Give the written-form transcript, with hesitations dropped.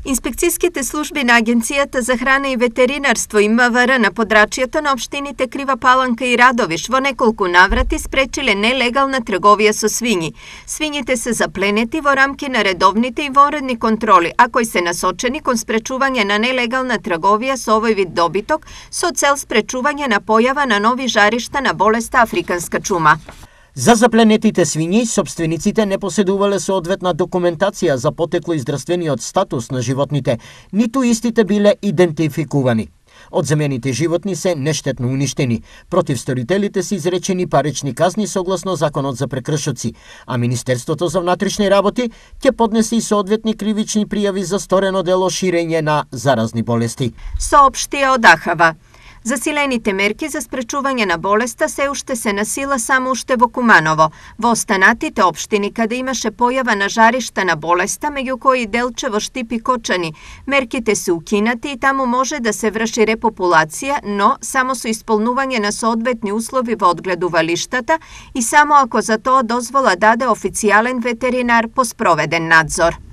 Инспекцијските служби на Агенцијата за храна и ветеринарство и МВР на подрачјето на општините Крива Паланка и Радовиш во неколку наврати спречиле нелегална трговија со свињи. Свињите се запленети во рамки на редовните и вонредни контроли, а кои се насочени кон спречување на нелегална трговија со овој вид добиток со цел спречување на појава на нови жаришта на болеста африканска чума. За запленетите свињи, собствениците не поседувале соодветна документација за потекло и здравствениот статус на животните, ниту истите биле идентификувани. Одземените животни се нештетно уништени. Против сторителите се изречени парични казни согласно Законот за прекршоци, а Министерството за внатрешни работи ќе поднесе и соодветни кривични пријави за сторено дело ширење на заразни болести. Соопштија од АХАВА. Засилените мерки за спречување на болеста се уште се на сила само уште во Куманово. Во останатите општини каде имаше појава на жаришта на болеста, меѓу кои Делчево, Штип и Кочани, мерките се укинати и таму може да се врши репопулација, но само со исполнување на соодветни услови во одгледувалиштата и само ако за тоа дозвола даде официјален ветеринар по спроведен надзор.